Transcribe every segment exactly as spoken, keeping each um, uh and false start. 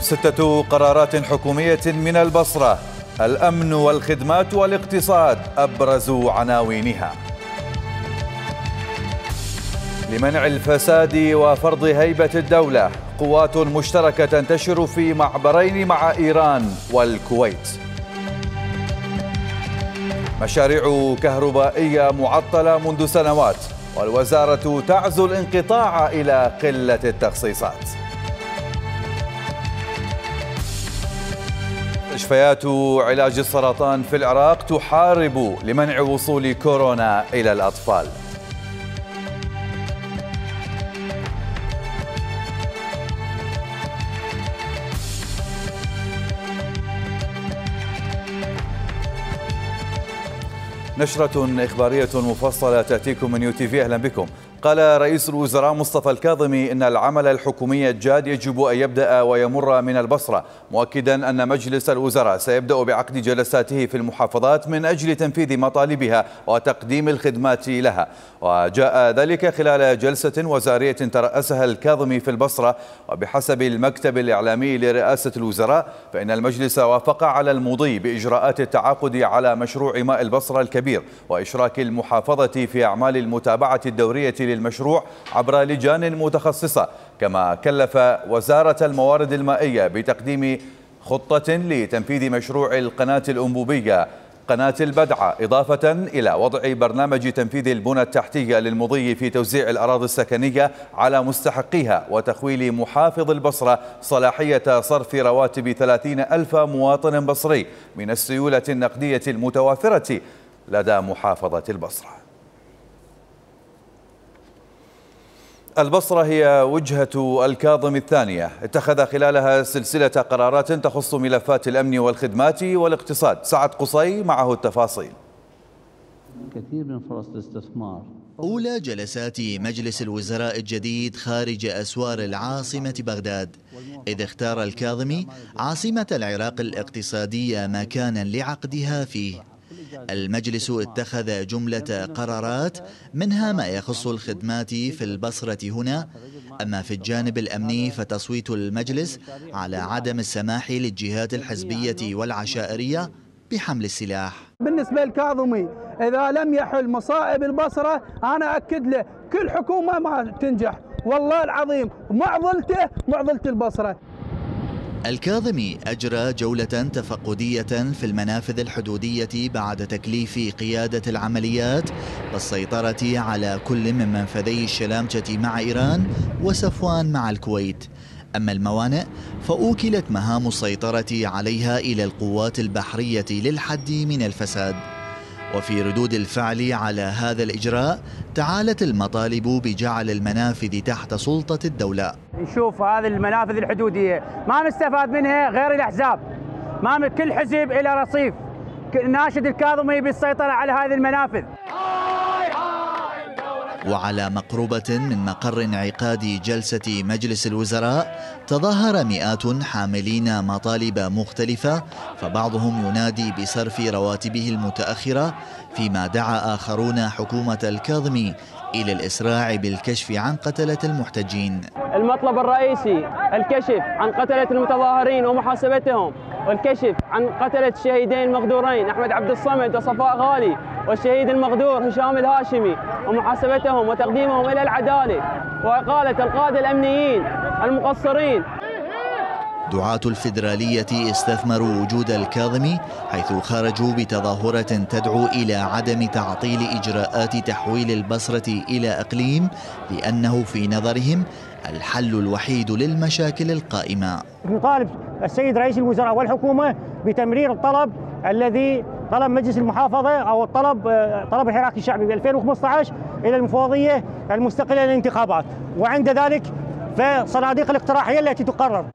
ستة قرارات حكومية من البصرة، الأمن والخدمات والاقتصاد أبرز عناوينها. لمنع الفساد وفرض هيبة الدولة، قوات مشتركة تنتشر في معبرين مع إيران والكويت. مشاريع كهربائية معطلة منذ سنوات، والوزارة تعزو الانقطاع إلى قلة التخصيصات. مستشفيات علاج السرطان في العراق تحارب لمنع وصول كورونا إلى الأطفال. نشرة إخبارية مفصلة تأتيكم من يو تي في. أهلا بكم. قال رئيس الوزراء مصطفى الكاظمي إن العمل الحكومي الجاد يجب أن يبدأ ويمر من البصرة، مؤكدا أن مجلس الوزراء سيبدأ بعقد جلساته في المحافظات من أجل تنفيذ مطالبها وتقديم الخدمات لها. وجاء ذلك خلال جلسة وزارية ترأسها الكاظمي في البصرة. وبحسب المكتب الإعلامي لرئاسة الوزراء فإن المجلس وافق على المضي بإجراءات التعاقد على مشروع ماء البصرة الكبير وإشراك المحافظة في أعمال المتابعة الدورية للمشروع عبر لجان متخصصة، كما كلف وزارة الموارد المائية بتقديم خطة لتنفيذ مشروع القناة الأنبوبية قناة البدعة، إضافة إلى وضع برنامج تنفيذ البنى التحتية للمضي في توزيع الأراضي السكنية على مستحقيها، وتخويل محافظ البصرة صلاحية صرف رواتب ثلاثين ألف مواطن بصري من السيولة النقدية المتوافرة لدى محافظة البصرة. البصرة هي وجهة الكاظم الثانية، اتخذ خلالها سلسلة قرارات تخص ملفات الأمن والخدمات والاقتصاد. سعد قصي معه التفاصيل. كثير من فرص الاستثمار. أولى جلسات مجلس الوزراء الجديد خارج أسوار العاصمة بغداد، إذ اختار الكاظمي عاصمة العراق الاقتصادية مكانا لعقدها فيه. المجلس اتخذ جملة قرارات منها ما يخص الخدمات في البصرة هنا. أما في الجانب الأمني فتصويت المجلس على عدم السماح للجهات الحزبية والعشائرية بحمل السلاح. بالنسبة للكاظمي إذا لم يحل مصائب البصرة أنا أكد له كل حكومة ما تنجح، والله العظيم معضلته معضلة البصرة. الكاظمي أجرى جولة تفقدية في المنافذ الحدودية بعد تكليف قيادة العمليات بالسيطرة على كل من منفذي الشلامشة مع إيران وصفوان مع الكويت. أما الموانئ فأوكلت مهام السيطرة عليها إلى القوات البحرية للحد من الفساد. وفي ردود الفعل على هذا الإجراء تعالت المطالب بجعل المنافذ تحت سلطة الدولة. نشوف هذه المنافذ الحدودية ما نستفاد منها غير الأحزاب، ما كل حزب إلى رصيف. ناشد الكاظمي بالسيطرة على هذه المنافذ. وعلى مقربة من مقر انعقاد جلسة مجلس الوزراء تظاهر مئات حاملين مطالب مختلفة، فبعضهم ينادي بصرف رواتبه المتأخرة، فيما دعا آخرون حكومة الكاظمي إلى الإسراع بالكشف عن قتلة المحتجين. المطلب الرئيسي الكشف عن قتلة المتظاهرين ومحاسبتهم، والكشف عن قتلة الشهيدين المغدورين أحمد عبد الصمد وصفاء غالي، والشهيد المغدور هشام الهاشمي، ومحاسبتهم وتقديمهم إلى العدالة، وإقالة القادة الأمنيين المقصرين. دعاة الفيدرالية استثمروا وجود الكاظمي حيث خرجوا بتظاهرة تدعو إلى عدم تعطيل إجراءات تحويل البصرة إلى إقليم، لأنه في نظرهم الحل الوحيد للمشاكل القائمة. نطالب السيد رئيس الوزراء والحكومة بتمرير الطلب الذي طلب مجلس المحافظة أو الطلب طلب الحراك الشعبي ب ألفين وخمسة عشر إلى المفوضية المستقلة للانتخابات، وعند ذلك فصناديق الاقتراحية التي تقرر.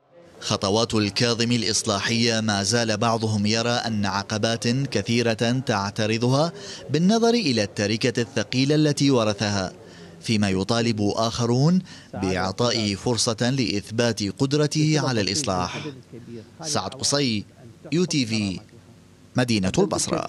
خطوات الكاظمي الإصلاحية ما زال بعضهم يرى أن عقبات كثيرة تعترضها بالنظر إلى التركة الثقيلة التي ورثها، فيما يطالب آخرون بإعطائه فرصة لإثبات قدرته على الإصلاح. سعد قصي، يو تي في، مدينة البصرة.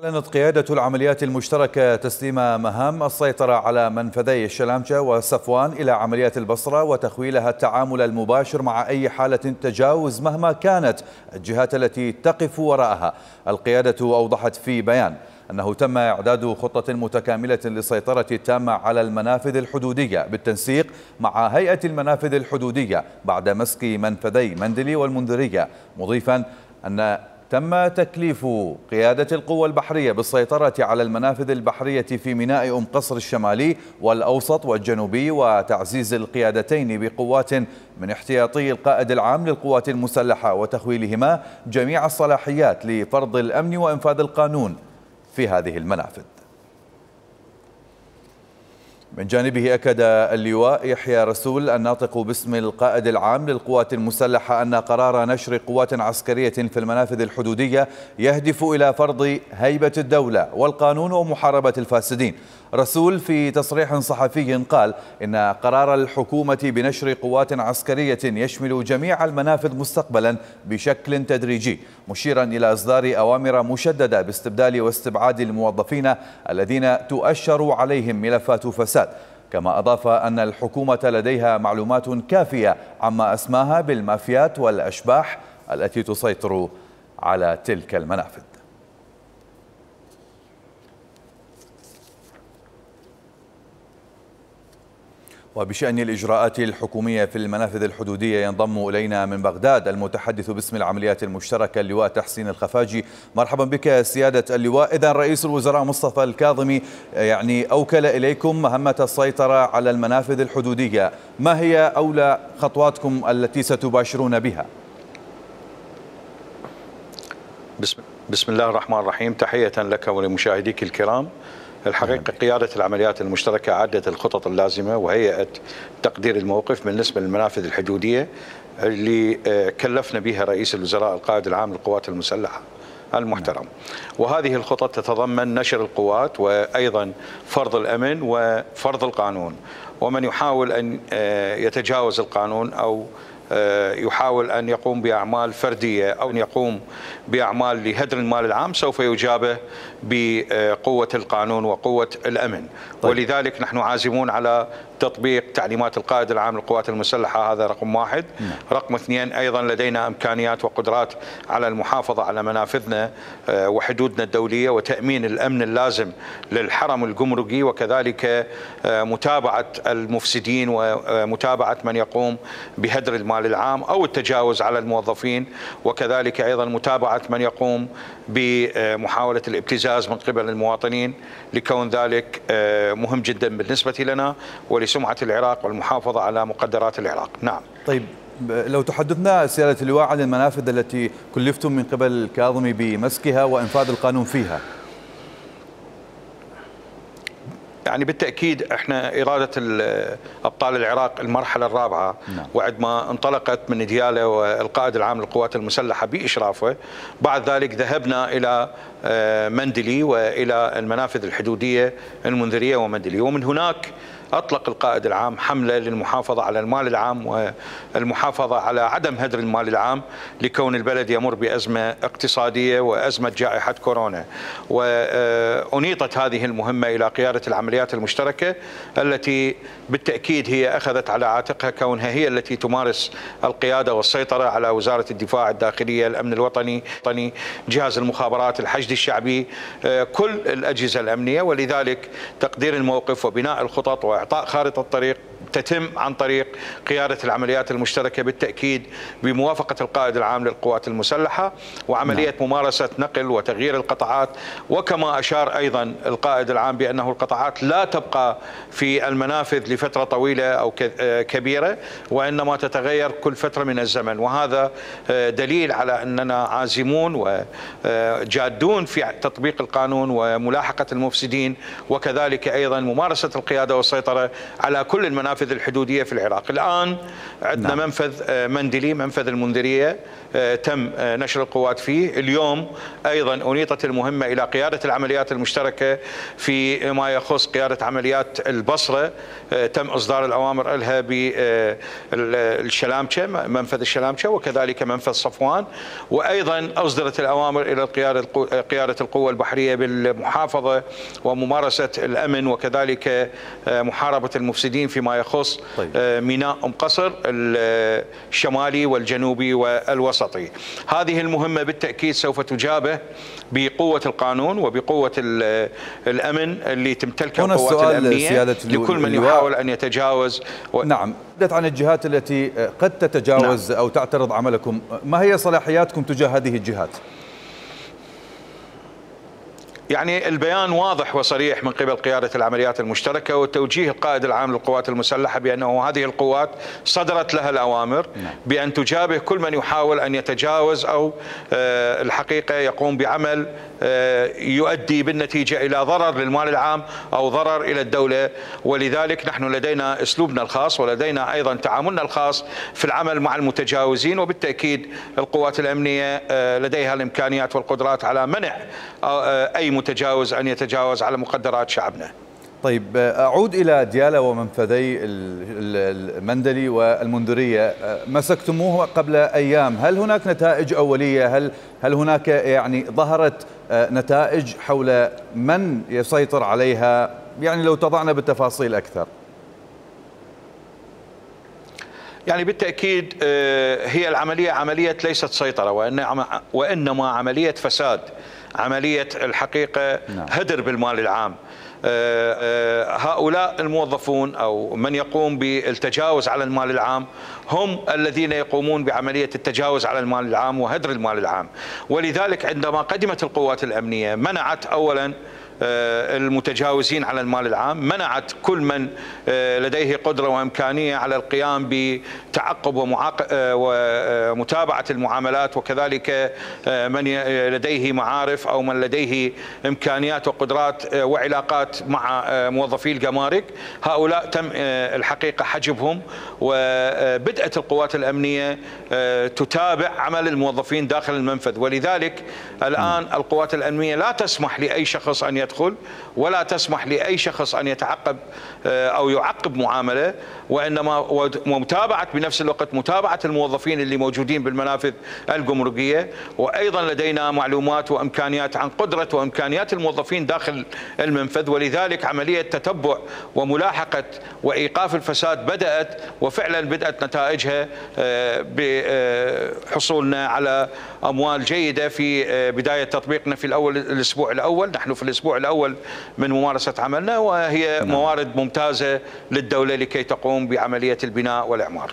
أعلنت قيادة العمليات المشتركة تسليم مهام السيطرة على منفذي الشلامشة وصفوان إلى عمليات البصرة وتخويلها التعامل المباشر مع أي حالة تجاوز مهما كانت الجهات التي تقف وراءها. القيادة أوضحت في بيان أنه تم إعداد خطة متكاملة للسيطرة التامة على المنافذ الحدودية بالتنسيق مع هيئة المنافذ الحدودية بعد مسك منفذي مندلي والمنذرية، مضيفا أن تم تكليف قيادة القوى البحرية بالسيطرة على المنافذ البحرية في ميناء أم قصر الشمالي والأوسط والجنوبي وتعزيز القيادتين بقوات من احتياطي القائد العام للقوات المسلحة وتخويلهما جميع الصلاحيات لفرض الأمن وإنفاذ القانون في هذه المنافذ. من جانبه أكد اللواء يحيى رسول الناطق باسم القائد العام للقوات المسلحة أن قرار نشر قوات عسكرية في المنافذ الحدودية يهدف إلى فرض هيبة الدولة والقانون ومحاربة الفاسدين. رسول في تصريح صحفي قال إن قرار الحكومة بنشر قوات عسكرية يشمل جميع المنافذ مستقبلا بشكل تدريجي، مشيرا إلى إصدار أوامر مشددة باستبدال واستبعاد الموظفين الذين تؤشر عليهم ملفات فساد. كما أضاف أن الحكومة لديها معلومات كافية عما أسماها بالمافيات والأشباح التي تسيطر على تلك المنافذ. وبشأن الإجراءات الحكومية في المنافذ الحدودية ينضم إلينا من بغداد المتحدث باسم العمليات المشتركة اللواء تحسين الخفاجي. مرحبا بك سيادة اللواء. إذن رئيس الوزراء مصطفى الكاظمي يعني أوكل إليكم مهمة السيطرة على المنافذ الحدودية، ما هي أولى خطواتكم التي ستباشرون بها؟ بسم, بسم الله الرحمن الرحيم. تحية لك ولمشاهديك الكرام. الحقيقة قيادة العمليات المشتركة عدت الخطط اللازمة وهيئت تقدير الموقف بالنسبة للمنافذ الحدودية اللي كلفنا بها رئيس الوزراء القائد العام للقوات المسلحة المحترم. وهذه الخطط تتضمن نشر القوات وأيضا فرض الأمن وفرض القانون، ومن يحاول أن يتجاوز القانون أو يحاول أن يقوم بأعمال فردية أو أن يقوم بأعمال لهدر المال العام سوف يجابه بقوة القانون وقوة الأمن. طيب. ولذلك نحن عازمون على تطبيق تعليمات القائد العام للقوات المسلحة، هذا رقم واحد. م. رقم اثنين، أيضا لدينا إمكانيات وقدرات على المحافظة على منافذنا وحدودنا الدولية وتأمين الأمن اللازم للحرم الجمركي، وكذلك متابعة المفسدين ومتابعة من يقوم بهدر المال العام أو التجاوز على الموظفين، وكذلك أيضا متابعة من يقوم بمحاولة الابتزاز من قبل المواطنين، لكون ذلك مهم جدا بالنسبة لنا ولسمعة العراق والمحافظة على مقدرات العراق. نعم. طيب، لو تحدثنا سيادة اللواء عن المنافذ التي كلفتم من قبل الكاظمي بمسكها وإنفاذ القانون فيها. يعني بالتأكيد احنا إرادة أبطال العراق المرحلة الرابعة، نعم. وعد ما انطلقت من ديالى والقائد العام للقوات المسلحة بإشرافه، بعد ذلك ذهبنا إلى مندلي وإلى المنافذ الحدودية المنذرية ومندلي، ومن هناك أطلق القائد العام حملة للمحافظة على المال العام والمحافظة على عدم هدر المال العام، لكون البلد يمر بأزمة اقتصادية وأزمة جائحة كورونا. وأنيطت هذه المهمة إلى قيادة العمليات المشتركة التي بالتأكيد هي أخذت على عاتقها كونها هي التي تمارس القيادة والسيطرة على وزارة الدفاع الداخلية، الأمن الوطني، جهاز المخابرات، الحشد الشعبي، كل الأجهزة الأمنية. ولذلك تقدير الموقف وبناء الخطط وإعطاء خارطة الطريق تتم عن طريق قيادة العمليات المشتركة بالتأكيد بموافقة القائد العام للقوات المسلحة، وعملية نعم. ممارسة نقل وتغيير القطاعات. وكما أشار أيضا القائد العام بأنه القطاعات لا تبقى في المنافذ لفترة طويلة أو كبيرة، وإنما تتغير كل فترة من الزمن، وهذا دليل على أننا عازمون وجادون في تطبيق القانون وملاحقة المفسدين، وكذلك أيضا ممارسة القيادة والسيطرة على كل المنافذ المنافذ الحدودية في العراق. الآن عندنا نعم. منفذ مندلي، منفذ المنذرية تم نشر القوات فيه. اليوم أيضا أنيطت المهمة إلى قيادة العمليات المشتركة في ما يخص قيادة عمليات البصرة، تم إصدار الأوامر لها بالشلامشة، منفذ الشلامشة، وكذلك منفذ صفوان، وأيضا أصدرت الأوامر إلى قيادة القوة البحرية بالمحافظة وممارسة الأمن وكذلك محاربة المفسدين فيما يخص طيب. ميناء أم قصر الشمالي والجنوبي والوسطي. هذه المهمة بالتأكيد سوف تجابه بقوة القانون وبقوة الأمن اللي تمتلكها القوات الأمنية لكل من يحاول أن يتجاوز و... نعم. تحدث عن الجهات التي قد تتجاوز نعم. أو تعترض عملكم، ما هي صلاحياتكم تجاه هذه الجهات؟ يعني البيان واضح وصريح من قبل قيادة العمليات المشتركة وتوجيه القائد العام للقوات المسلحة بأنه هذه القوات صدرت لها الأوامر بأن تجابه كل من يحاول أن يتجاوز أو الحقيقة يقوم بعمل يؤدي بالنتيجة إلى ضرر للمال العام أو ضرر إلى الدولة. ولذلك نحن لدينا أسلوبنا الخاص ولدينا أيضا تعاملنا الخاص في العمل مع المتجاوزين، وبالتأكيد القوات الأمنية لديها الإمكانيات والقدرات على منع أي متجاوز أن يتجاوز على مقدرات شعبنا. طيب أعود إلى ديالى ومنفذي المندلي والمنذرية، مسكتموه قبل أيام، هل هناك نتائج أولية؟ هل هل هناك يعني ظهرت نتائج حول من يسيطر عليها؟ يعني لو تضعنا بالتفاصيل أكثر. يعني بالتأكيد هي العملية عملية ليست سيطرة وإنما عملية فساد، عملية الحقيقة هدر بالمال العام. هؤلاء الموظفون أو من يقوم بالتجاوز على المال العام هم الذين يقومون بعملية التجاوز على المال العام وهدر المال العام. ولذلك عندما قدمت القوات الأمنية منعت أولا المتجاوزين على المال العام، منعت كل من لديه قدرة وإمكانية على القيام بتعقب ومتابعة المعاملات، وكذلك من لديه معارف أو من لديه إمكانيات وقدرات وعلاقات مع موظفي الجمارك. هؤلاء تم الحقيقة حجبهم، وبدأت القوات الأمنية تتابع عمل الموظفين داخل المنفذ. ولذلك الآن القوات الأمنية لا تسمح لأي شخص أن يدخل ولا تسمح لأي شخص أن يتعقب أو يعقب معاملة، وإنما ومتابعة بنفس الوقت متابعة الموظفين اللي موجودين بالمنافذ الجمركية. وأيضا لدينا معلومات وإمكانيات عن قدرة وإمكانيات الموظفين داخل المنفذ، ولذلك عملية تتبع وملاحقة وإيقاف الفساد بدأت، وفعلا بدأت نتائجها بحصولنا على أموال جيدة في بداية تطبيقنا في الأول الأسبوع الأول. نحن في الأسبوع الأول من ممارسة عملنا، وهي موارد ممتازة للدولة لكي تقوم بعملية البناء والإعمار.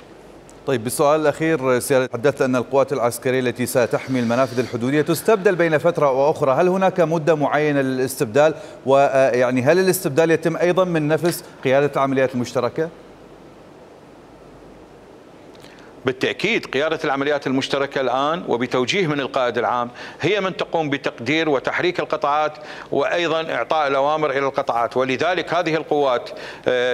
طيب بالسؤال الأخير سيادة، تحدثت أن القوات العسكرية التي ستحمي المنافذ الحدودية تستبدل بين فترة وأخرى، هل هناك مدة معينة للاستبدال؟ ويعني هل الاستبدال يتم أيضا من نفس قيادة العمليات المشتركة؟ بالتأكيد قيادة العمليات المشتركة الآن وبتوجيه من القائد العام هي من تقوم بتقدير وتحريك القطاعات وأيضا إعطاء الأوامر إلى القطاعات. ولذلك هذه القوات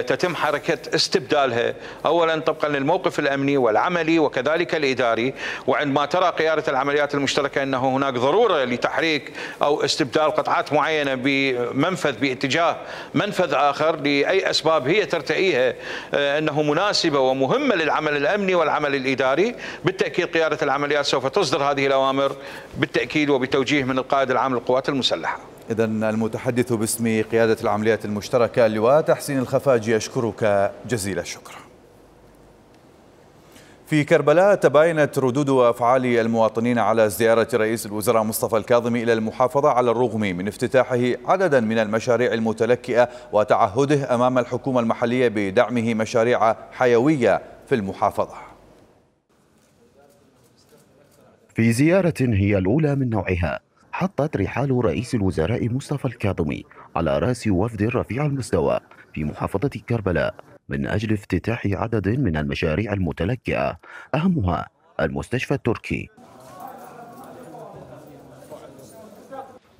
تتم حركة استبدالها أولا طبقا للموقف الأمني والعملي وكذلك الإداري. وعندما ترى قيادة العمليات المشتركة أنه هناك ضرورة لتحريك أو استبدال قطعات معينة بمنفذ باتجاه منفذ آخر لأي أسباب هي ترتئيها أنه مناسبة ومهمة للعمل الأمني والعمل الإداري، بالتأكيد قيادة العمليات سوف تصدر هذه الأوامر بالتأكيد وبتوجيه من القائد العام للقوات المسلحة. إذن المتحدث باسم قيادة العمليات المشتركة اللواء تحسين الخفاجي أشكرك جزيل الشكر. في كربلاء تباينت ردود وأفعال المواطنين على زيارة رئيس الوزراء مصطفى الكاظمي إلى المحافظة على الرغم من افتتاحه عددا من المشاريع المتلكئة وتعهده أمام الحكومة المحلية بدعمه مشاريع حيوية في المحافظة. في زيارة هي الأولى من نوعها حطت رحال رئيس الوزراء مصطفى الكاظمي على رأس وفد رفيع المستوى في محافظة كربلاء من أجل افتتاح عدد من المشاريع المتلكئة أهمها المستشفى التركي.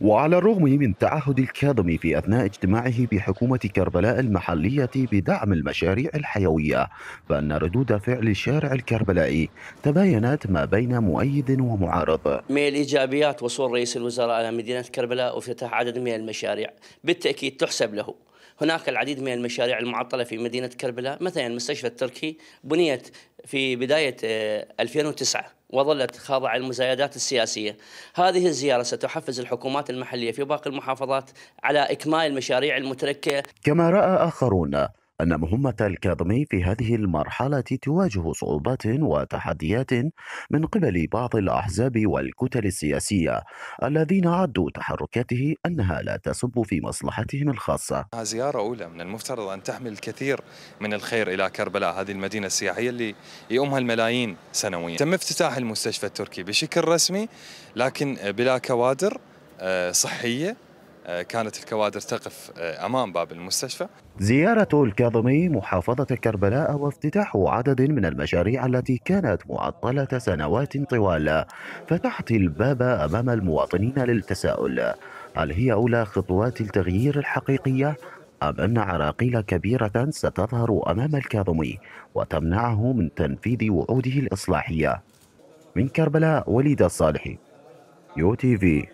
وعلى الرغم من تعهد الكاظمي في أثناء اجتماعه بحكومة كربلاء المحلية بدعم المشاريع الحيوية، فإن ردود فعل الشارع الكربلائي تباينت ما بين مؤيد ومعارض. من الإيجابيات وصول رئيس الوزراء إلى مدينة كربلاء وافتتاح عدد من المشاريع بالتأكيد تحسب له. هناك العديد من المشاريع المعطلة في مدينة كربلاء، مثلا المستشفى التركي بنيت في بداية ألفين وتسعة وظلت خاضعة للمزايدات السياسية. هذه الزيارة ستحفز الحكومات المحلية في باقي المحافظات على إكمال المشاريع المتركة. كما رأى آخرون أن مهمة الكاظمي في هذه المرحلة تواجه صعوبات وتحديات من قبل بعض الأحزاب والكتل السياسية الذين عدوا تحركاته أنها لا تصب في مصلحتهم الخاصة. زيارة أولى من المفترض أن تحمل الكثير من الخير إلى كربلاء، هذه المدينة السياحية اللي يؤمها الملايين سنويا. تم افتتاح المستشفى التركي بشكل رسمي لكن بلا كوادر صحية، كانت الكوادر تقف أمام باب المستشفى. زيارة الكاظمي محافظة كربلاء وافتتاح عدد من المشاريع التي كانت معطلة سنوات طوال فتحت الباب أمام المواطنين للتساؤل: هل هي أولى خطوات التغيير الحقيقية أم أن عراقيل كبيرة ستظهر أمام الكاظمي وتمنعه من تنفيذ وعوده الإصلاحية؟ من كربلاء، وليد الصالحي، يو تي في.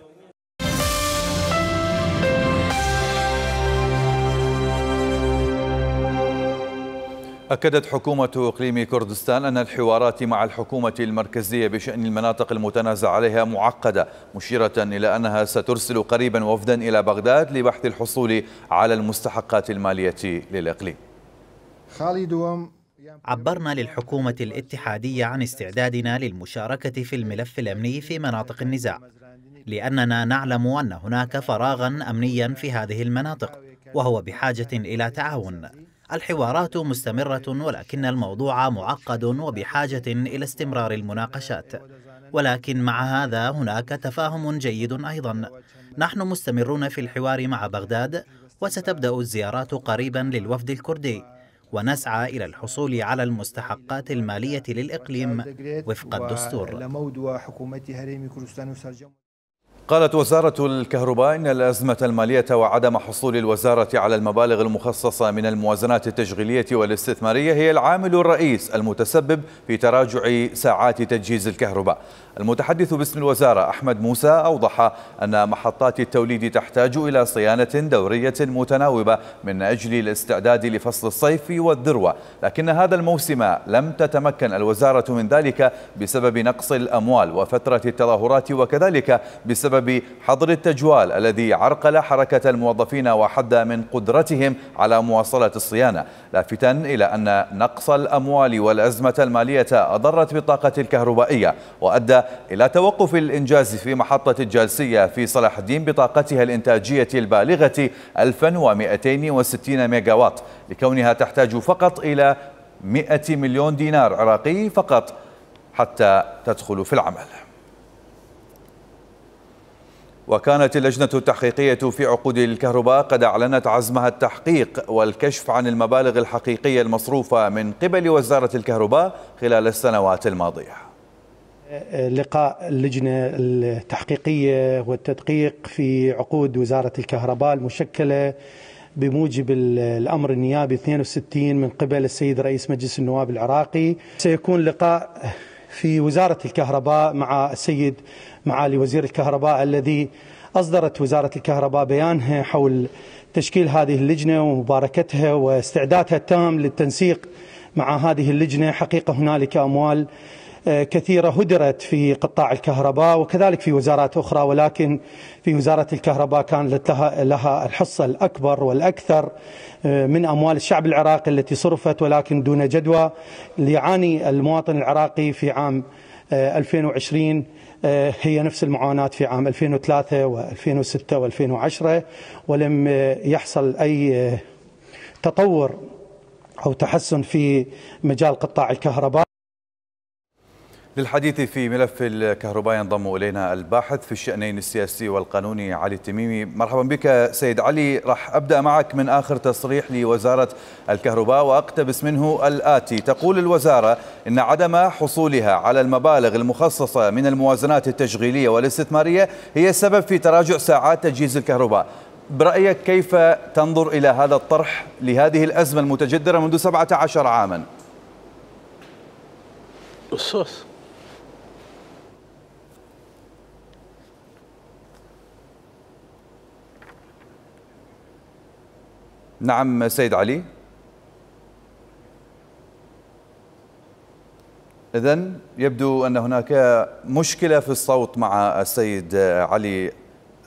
أكدت حكومة إقليم كردستان أن الحوارات مع الحكومة المركزية بشأن المناطق المتنازع عليها معقدة، مشيرة إلى أنها سترسل قريبا وفدا إلى بغداد لبحث الحصول على المستحقات المالية للإقليم. عبرنا للحكومة الاتحادية عن استعدادنا للمشاركة في الملف الأمني في مناطق النزاع، لأننا نعلم أن هناك فراغا أمنيا في هذه المناطق وهو بحاجة إلى تعاون. الحوارات مستمرة ولكن الموضوع معقد وبحاجة إلى استمرار المناقشات، ولكن مع هذا هناك تفاهم جيد أيضا. نحن مستمرون في الحوار مع بغداد وستبدأ الزيارات قريبا للوفد الكردي، ونسعى إلى الحصول على المستحقات المالية للإقليم وفق الدستور. قالت وزارة الكهرباء إن الأزمة المالية وعدم حصول الوزارة على المبالغ المخصصة من الموازنات التشغيلية والاستثمارية هي العامل الرئيس المتسبب في تراجع ساعات تجهيز الكهرباء. المتحدث باسم الوزارة أحمد موسى أوضح أن محطات التوليد تحتاج إلى صيانة دورية متناوبة من أجل الاستعداد لفصل الصيف والذروة، لكن هذا الموسم لم تتمكن الوزارة من ذلك بسبب نقص الأموال وفترة التظاهرات، وكذلك بسبب حظر التجوال الذي عرقل حركة الموظفين وحد من قدرتهم على مواصلة الصيانة، لافتا إلى أن نقص الأموال والأزمة المالية أضرت بالطاقة الكهربائية وأدى إلى توقف الإنجاز في محطة الجالسية في صلاح الدين بطاقتها الإنتاجية البالغة ألف ومئتين وستين ميجاوات، لكونها تحتاج فقط إلى مئة مليون دينار عراقي فقط حتى تدخل في العمل. وكانت اللجنة التحقيقية في عقود الكهرباء قد أعلنت عزمها التحقيق والكشف عن المبالغ الحقيقية المصروفة من قبل وزارة الكهرباء خلال السنوات الماضية. لقاء اللجنة التحقيقية والتدقيق في عقود وزارة الكهرباء المشكلة بموجب الأمر النيابي اثنين وستين من قبل السيد رئيس مجلس النواب العراقي. سيكون لقاء في وزارة الكهرباء مع السيد معالي وزير الكهرباء الذي أصدرت وزارة الكهرباء بيانها حول تشكيل هذه اللجنة ومباركتها واستعدادها التام للتنسيق مع هذه اللجنة. حقيقة هنالك أموال كثيرة هدرت في قطاع الكهرباء وكذلك في وزارات أخرى، ولكن في وزارة الكهرباء كانت لها الحصة الأكبر والأكثر من أموال الشعب العراقي التي صرفت ولكن دون جدوى. ليعاني المواطن العراقي في عام ألفين وعشرين هي نفس المعاناة في عام ألفين وثلاثة وألفين وستة وألفين وعشرة، ولم يحصل أي تطور أو تحسن في مجال قطاع الكهرباء. للحديث في ملف الكهرباء ينضم إلينا الباحث في الشأنين السياسي والقانوني علي التميمي. مرحبا بك سيد علي. راح أبدأ معك من آخر تصريح لوزارة الكهرباء وأقتبس منه الآتي: تقول الوزارة إن عدم حصولها على المبالغ المخصصة من الموازنات التشغيلية والاستثمارية هي السبب في تراجع ساعات تجهيز الكهرباء. برأيك كيف تنظر إلى هذا الطرح لهذه الأزمة المتجذرة منذ سبعة عشر عاما؟ الصوص نعم سيد علي. إذن يبدو أن هناك مشكلة في الصوت مع السيد علي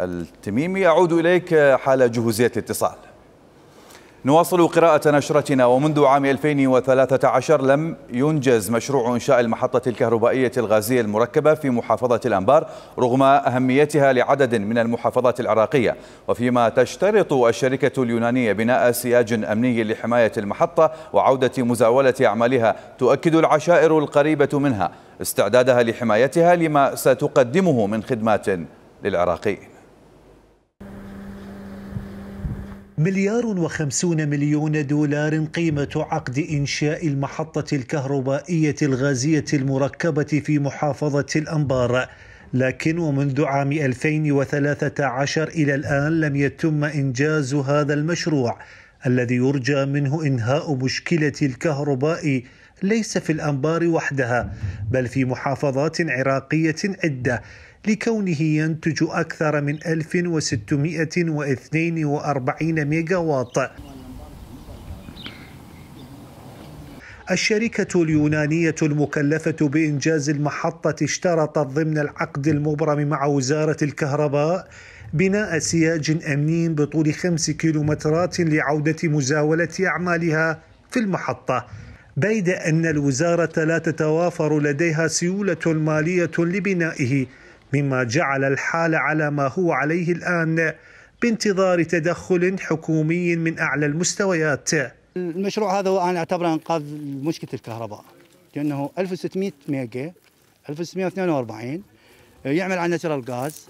التميمي. أعود إليك حال جهوزية الاتصال. نواصل قراءة نشرتنا. ومنذ عام ألفين وثلاثة عشر لم ينجز مشروع إنشاء المحطة الكهربائية الغازية المركبة في محافظة الأنبار رغم أهميتها لعدد من المحافظات العراقية، وفيما تشترط الشركة اليونانية بناء سياج أمني لحماية المحطة وعودة مزاولة أعمالها. تؤكد العشائر القريبة منها استعدادها لحمايتها لما ستقدمه من خدمات للعراقيين. مليار وخمسون مليون دولار قيمة عقد إنشاء المحطة الكهربائية الغازية المركبة في محافظة الأنبار، لكن ومنذ عام ألفين وثلاثة عشر إلى الآن لم يتم إنجاز هذا المشروع الذي يرجى منه إنهاء مشكلة الكهرباء ليس في الأنبار وحدها بل في محافظات عراقية عدة، لكونه ينتج أكثر من ألف وستمئة واثنين وأربعين ميجا واط. الشركة اليونانية المكلفة بإنجاز المحطة اشترطت ضمن العقد المبرم مع وزارة الكهرباء بناء سياج أمني بطول خمس كيلومترات لعودة مزاولة أعمالها في المحطة، بيد أن الوزارة لا تتوافر لديها سيولة مالية لبنائه، مما جعل الحال على ما هو عليه الآن بانتظار تدخل حكومي من أعلى المستويات. المشروع هذا هو أنا أعتبره إنقاذ مشكلة الكهرباء، لأنه ألف وستمئة ميجا ألف وستمئة واثنين وأربعين يعمل على ناتشرال غاز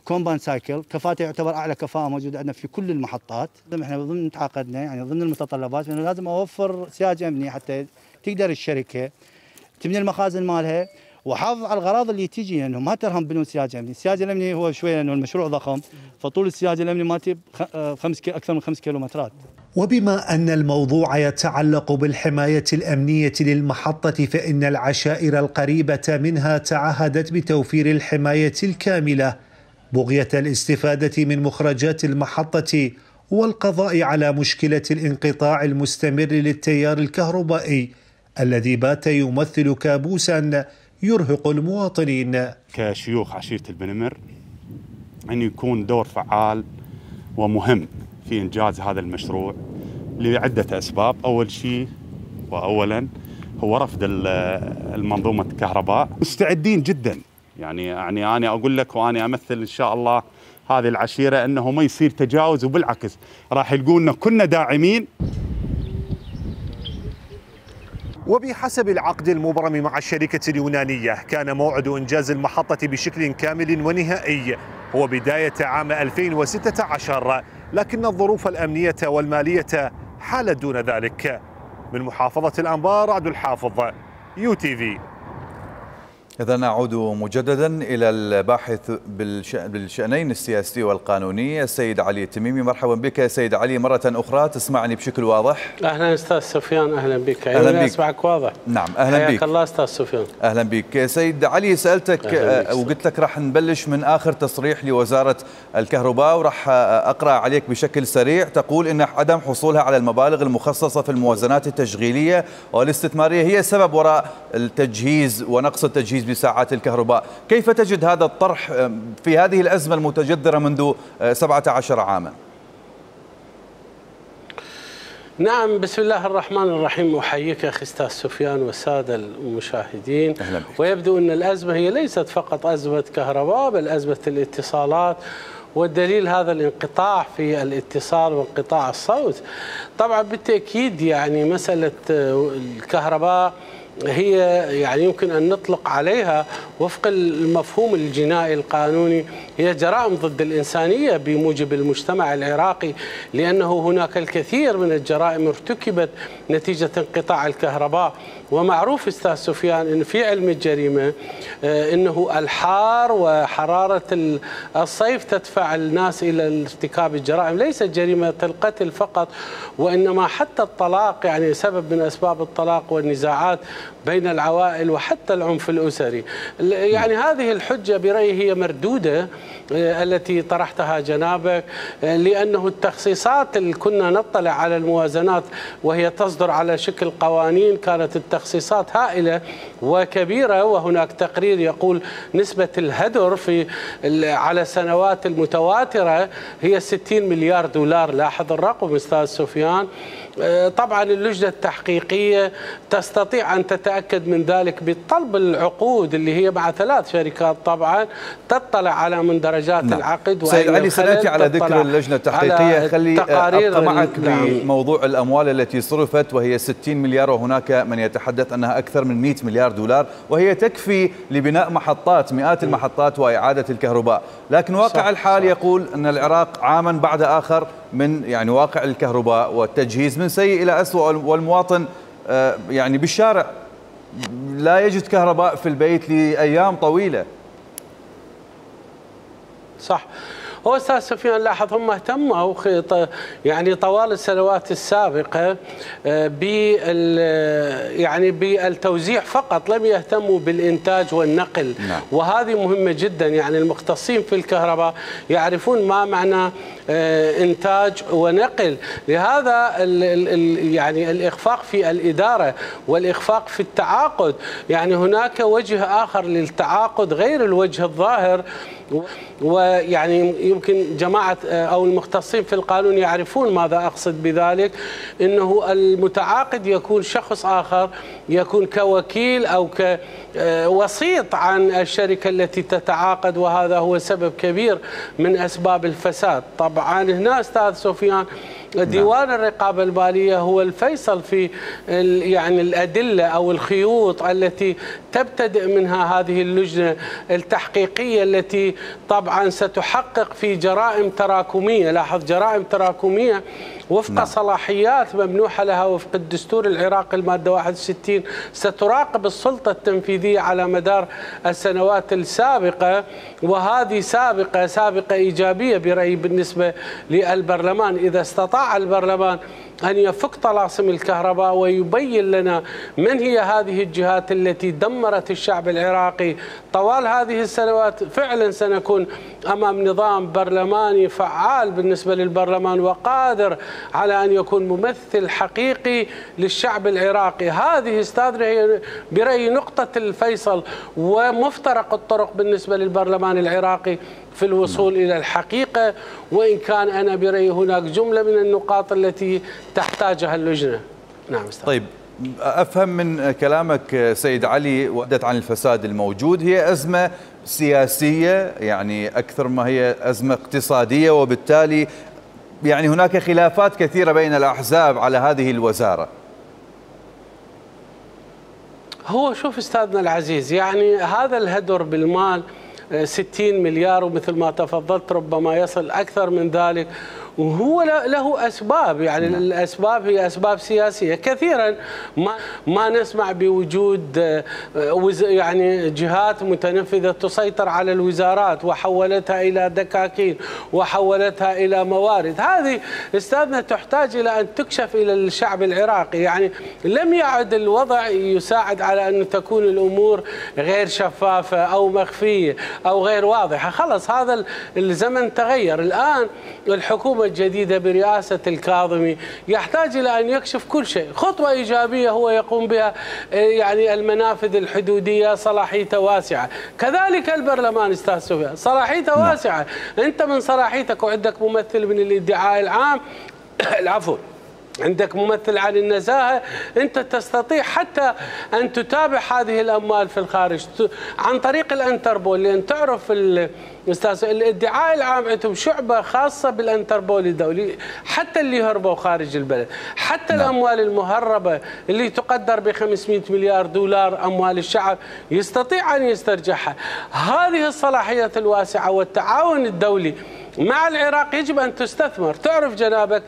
كومباوند سايكل، كفاءته يعتبر أعلى كفاءة موجودة عندنا في كل المحطات. احنا ضمن تعاقدنا يعني ضمن المتطلبات انه لازم اوفر سياج امني حتى تقدر الشركه تبني المخازن مالها وحافظ على الغراض اللي تجي، لانه ما ترهم بدون سياج امني. السياج الامني هو شويه لانه المشروع ضخم، فطول السياج الامني مالتي خمس اكثر من خمس كيلومترات. وبما أن الموضوع يتعلق بالحماية الأمنية للمحطة، فإن العشائر القريبة منها تعهدت بتوفير الحماية الكاملة بغية الاستفادة من مخرجات المحطة والقضاء على مشكلة الانقطاع المستمر للتيار الكهربائي الذي بات يمثل كابوسا يرهق المواطنين. كشيوخ عشيرة البنمر أن يكون دور فعال ومهم في إنجاز هذا المشروع لعدة أسباب. أول شيء وأولا هو رفض المنظومة الكهرباء. مستعدين جدا، يعني يعني أنا أقول لك وأنا أمثل إن شاء الله هذه العشيرة أنه ما يصير تجاوز، وبالعكس راح يلقونا كنا داعمين. وبحسب العقد المبرم مع الشركة اليونانية، كان موعد إنجاز المحطة بشكل كامل ونهائي هو بداية عام ألفين وستة عشر، لكن الظروف الأمنية والمالية حالت دون ذلك. من محافظة الأنبار عبد الحافظ، يو تي في. إذا نعود مجددا إلى الباحث بالشأنين السياسي والقانوني السيد علي التميمي. مرحبا بك سيد علي مرة أخرى، تسمعني بشكل واضح؟ أهلا أستاذ سفيان، أهلا بك. أهلا بك. أسمعك واضح. نعم أهلا بك. حياك الله أستاذ سفيان. أهلا بك سيد علي. سألتك وقلت لك راح نبلش من آخر تصريح لوزارة الكهرباء، وراح أقرأ عليك بشكل سريع. تقول إن عدم حصولها على المبالغ المخصصة في الموازنات التشغيلية والاستثمارية هي السبب وراء التجهيز ونقص التجهيز بساعات الكهرباء. كيف تجد هذا الطرح في هذه الأزمة المتجذرة منذ سبعة عشر عاما؟ نعم، بسم الله الرحمن الرحيم. أحييك أخي أستاذ سفيان والسادة المشاهدين. ويبدو أن الأزمة هي ليست فقط أزمة كهرباء بل أزمة الاتصالات، والدليل هذا الانقطاع في الاتصال وانقطاع الصوت. طبعا بالتأكيد يعني مسألة الكهرباء هي يعني يمكن أن نطلق عليها وفق المفهوم الجنائي القانوني هي جرائم ضد الإنسانية بموجب المجتمع العراقي، لأنه هناك الكثير من الجرائم ارتكبت نتيجة انقطاع الكهرباء. ومعروف أستاذ سفيان أن في علم الجريمة أنه الحار وحرارة الصيف تدفع الناس إلى ارتكاب الجرائم، ليست جريمة القتل فقط وإنما حتى الطلاق، يعني سبب من أسباب الطلاق والنزاعات بين العوائل وحتى العنف الأسري. يعني هذه الحجة برأيي هي مردودة التي طرحتها جنابك، لأنه التخصيصات اللي كنا نطلع على الموازنات وهي تصدر على شكل قوانين كانت التخصيصات هائلة وكبيرة، وهناك تقرير يقول نسبة الهدر في على سنوات المتواترة هي ستين مليار دولار. لاحظ الرقم أستاذ سفيان. طبعا اللجنة التحقيقية تستطيع أن تتأكد من ذلك بطلب العقود اللي هي مع ثلاث شركات طبعا تطلع على مندرجات نعم. العقد. سيد علي سنأتي على ذكر اللجنة التحقيقية، خلي أبقى معك بموضوع الأموال التي صرفت وهي ستين مليار، وهناك من يتحدث أنها أكثر من مئة مليار دولار، وهي تكفي لبناء محطات مئات المحطات وإعادة الكهرباء. لكن واقع صح الحال صح. يقول أن العراق عاما بعد آخر من يعني واقع الكهرباء والتجهيز من سيء إلى أسوأ، والمواطن يعني بالشارع لا يجد كهرباء في البيت لأيام طويلة. صح. هو أستاذ سفيان لاحظ هم اهتموا يعني طوال السنوات السابقة بال يعني بالتوزيع فقط، لم يهتموا بالإنتاج والنقل نعم. وهذه مهمة جدا. يعني المختصين في الكهرباء يعرفون ما معنى إنتاج ونقل، لهذا ال ال يعني الإخفاق في الإدارة والإخفاق في التعاقد. يعني هناك وجه آخر للتعاقد غير الوجه الظاهر، ويعني يمكن جماعة أو المختصين في القانون يعرفون ماذا أقصد بذلك، أنه المتعاقد يكون شخص آخر، يكون كوكيل أو كوسيط عن الشركة التي تتعاقد، وهذا هو سبب كبير من أسباب الفساد. طبعا هنا أستاذ سفيان ديوان الرقابة المالية هو الفيصل في يعني الأدلة أو الخيوط التي تبتدئ منها هذه اللجنة التحقيقية التي طبعا ستحقق في جرائم تراكمية. لاحظ جرائم تراكمية وفق نعم. صلاحيات ممنوحة لها وفق الدستور العراقي المادة واحد وستين، ستراقب السلطة التنفيذية على مدار السنوات السابقة، وهذه سابقة سابقة إيجابية برأيي بالنسبة للبرلمان. إذا استطاع البرلمان أن يفك طلاسم الكهرباء ويبين لنا من هي هذه الجهات التي دمرت الشعب العراقي طوال هذه السنوات، فعلا سنكون أمام نظام برلماني فعال بالنسبة للبرلمان وقادر على أن يكون ممثل حقيقي للشعب العراقي. هذه استاذ هي برأيي نقطة الفيصل ومفترق الطرق بالنسبة للبرلمان العراقي في الوصول م. إلى الحقيقة، وإن كان أنا برأيي هناك جملة من النقاط التي تحتاجها اللجنة. نعم أستاذ. طيب أفهم من كلامك سيد علي وحدت عن الفساد الموجود هي أزمة سياسية يعني أكثر ما هي أزمة اقتصادية، وبالتالي يعني هناك خلافات كثيرة بين الأحزاب على هذه الوزارة. هو شوف أستاذنا العزيز، يعني هذا الهدر بالمال ستين مليار ومثل ما تفضلت ربما يصل أكثر من ذلك، وهو له أسباب. يعني الأسباب هي أسباب سياسية. كثيرا ما ما نسمع بوجود يعني جهات متنفذة تسيطر على الوزارات وحولتها إلى دكاكين وحولتها إلى موارد. هذه استاذنا تحتاج إلى أن تكشف إلى الشعب العراقي. يعني لم يعد الوضع يساعد على أن تكون الأمور غير شفافة أو مخفية أو غير واضحة. خلص هذا الزمن تغير. الآن الحكومة الجديدة برئاسة الكاظمي يحتاج إلى أن يكشف كل شيء. خطوة إيجابية هو يقوم بها يعني المنافذ الحدودية صلاحيته واسعة، كذلك البرلمان أستاذ سفيان صلاحيته واسعة. أنت من صلاحيتك وعندك ممثل من الادعاء العام العفو عندك ممثل عن النزاهة، أنت تستطيع حتى أن تتابع هذه الأموال في الخارج عن طريق الانتربول، لأن تعرف أستاذ الادعاء العام عندهم شعبة خاصة بالانتربول الدولي، حتى اللي هربوا خارج البلد، حتى نعم. الأموال المهربة اللي تقدر ب خمسمئة مليار دولار أموال الشعب يستطيع أن يسترجعها. هذه الصلاحيات الواسعة والتعاون الدولي مع العراق يجب أن تستثمر. تعرف جنابك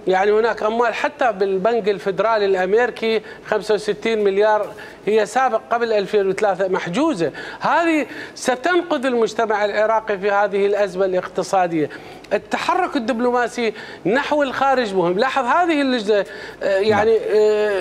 يعني هناك أموال حتى بالبنك الفدرالي الأمريكي خمسة وستين مليار هي سابق قبل ألفين وثلاثة محجوزة. هذه ستنقذ المجتمع العراقي في هذه الأزمة الاقتصادية. التحرك الدبلوماسي نحو الخارج مهم. لاحظ هذه اللجنة يعني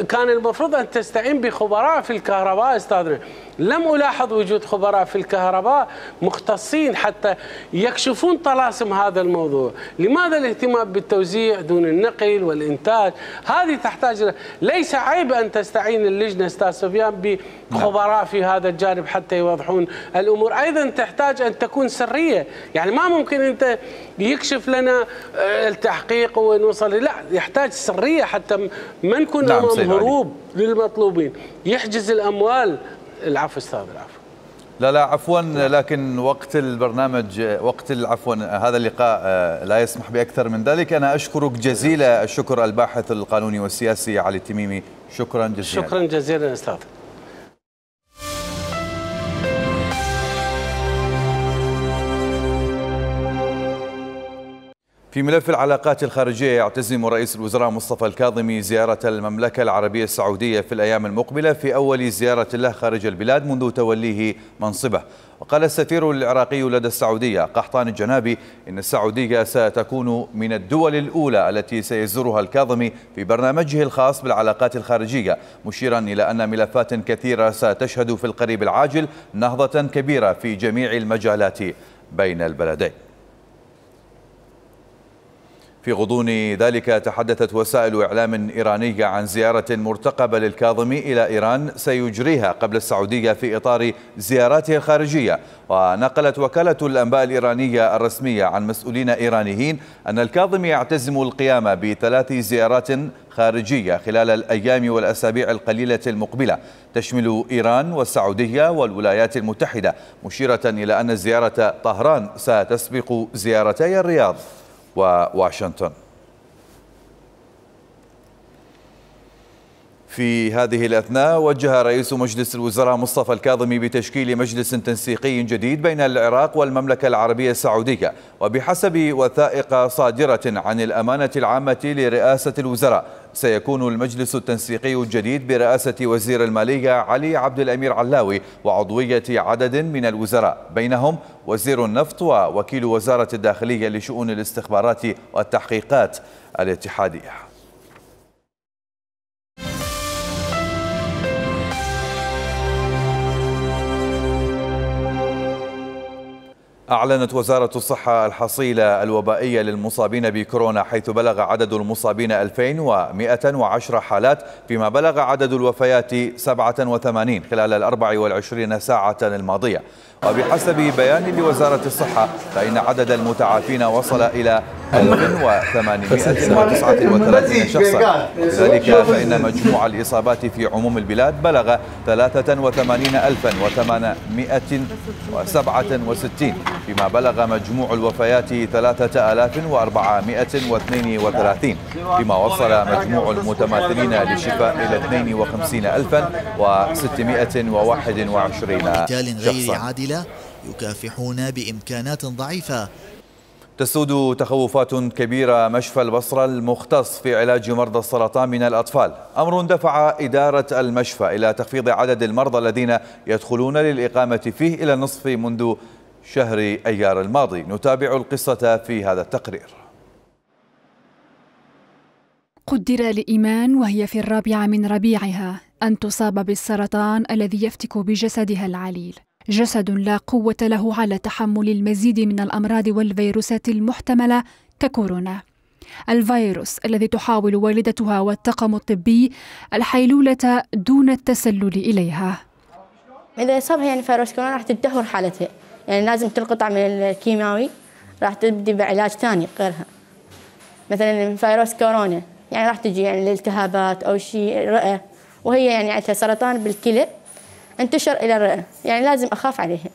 كان المفروض أن تستعين بخبراء في الكهرباء أستاذنا، لم ألاحظ وجود خبراء في الكهرباء مختصين حتى يكشفون طلاسم هذا الموضوع. لماذا الاهتمام بالتوزيع دون النقل والإنتاج؟ هذه تحتاج، ليس عيب أن تستعين اللجنة أستاذ سفيان بخبراء في هذا الجانب حتى يوضحون الأمور. أيضا تحتاج أن تكون سرية، يعني ما ممكن أنت يكشف لنا التحقيق ونوصل، لا، يحتاج سرية حتى ما نكون أمام هروب للمطلوبين يحجز الأموال. العفو استاذ. العفو. لا لا عفوا، لكن وقت البرنامج وقت عفوا هذا اللقاء لا يسمح باكثر من ذلك. انا اشكرك جزيل الشكر الباحث القانوني والسياسي علي التميمي، شكرا جزيلا. شكرا جزيلا استاذ. في ملف العلاقات الخارجية، يعتزم رئيس الوزراء مصطفى الكاظمي زيارة المملكة العربية السعودية في الأيام المقبلة في أول زيارة له خارج البلاد منذ توليه منصبه. وقال السفير العراقي لدى السعودية قحطان الجنابي إن السعودية ستكون من الدول الأولى التي سيزورها الكاظمي في برنامجه الخاص بالعلاقات الخارجية، مشيرا إلى أن ملفات كثيرة ستشهد في القريب العاجل نهضة كبيرة في جميع المجالات بين البلدين. في غضون ذلك تحدثت وسائل إعلام إيرانية عن زيارة مرتقبة للكاظمي إلى إيران سيجريها قبل السعودية في إطار زياراته الخارجية. ونقلت وكالة الأنباء الإيرانية الرسمية عن مسؤولين إيرانيين أن الكاظمي يعتزم القيام بثلاث زيارات خارجية خلال الأيام والأسابيع القليلة المقبلة، تشمل إيران والسعودية والولايات المتحدة، مشيرة إلى أن زيارة طهران ستسبق زيارتي الرياض وواشنطن. في هذه الأثناء وجه رئيس مجلس الوزراء مصطفى الكاظمي بتشكيل مجلس تنسيقي جديد بين العراق والمملكة العربية السعودية. وبحسب وثائق صادرة عن الأمانة العامة لرئاسة الوزراء، سيكون المجلس التنسيقي الجديد برئاسة وزير المالية علي عبد الأمير علاوي وعضوية عدد من الوزراء، بينهم وزير النفط ووكيل وزارة الداخلية لشؤون الاستخبارات والتحقيقات الاتحادية. أعلنت وزارة الصحة الحصيلة الوبائية للمصابين بكورونا، حيث بلغ عدد المصابين ألفين ومئة وعشرة حالات، فيما بلغ عدد الوفيات سبعة وثمانين خلال الأربع والعشرين ساعة الماضية. وبحسب بيان لوزارة الصحة فإن عدد المتعافين وصل إلى ألف وثمانمئة وتسعة وثلاثين شخصا، لذلك فإن مجموع الإصابات في عموم البلاد بلغ ثلاثة وثمانين ألفا وثمانمئة وسبعة وستين، فيما بلغ مجموع الوفيات ثلاثة آلاف وأربعمئة واثنين وثلاثين، فيما وصل مجموع المتماثلين للشفاء إلى اثنين وخمسين ألفا وستمئة وواحد وعشرين شخصا. يكافحون بإمكانات ضعيفة. تسود تخوفات كبيرة مشفى البصرة المختص في علاج مرضى السرطان من الأطفال، أمر دفع إدارة المشفى إلى تخفيض عدد المرضى الذين يدخلون للإقامة فيه إلى النصف منذ شهر أيار الماضي. نتابع القصة في هذا التقرير. قدر لإيمان وهي في الرابعة من ربيعها أن تصاب بالسرطان الذي يفتك بجسدها العليل، جسد لا قوة له على تحمل المزيد من الأمراض والفيروسات المحتملة ككورونا، الفيروس الذي تحاول والدتها والطاقم الطبي الحيلولة دون التسلل إليها. إذا أصابها يعني فيروس كورونا راح تدهور حالتها، يعني لازم تنقطع من الكيماوي، راح تبدي بعلاج ثاني غيرها. مثلا فيروس كورونا، يعني راح تجي يعني الالتهابات أو شيء رئة، وهي يعني عندها سرطان بالكلى انتشر إلى الرئة، يعني لازم أخاف عليها.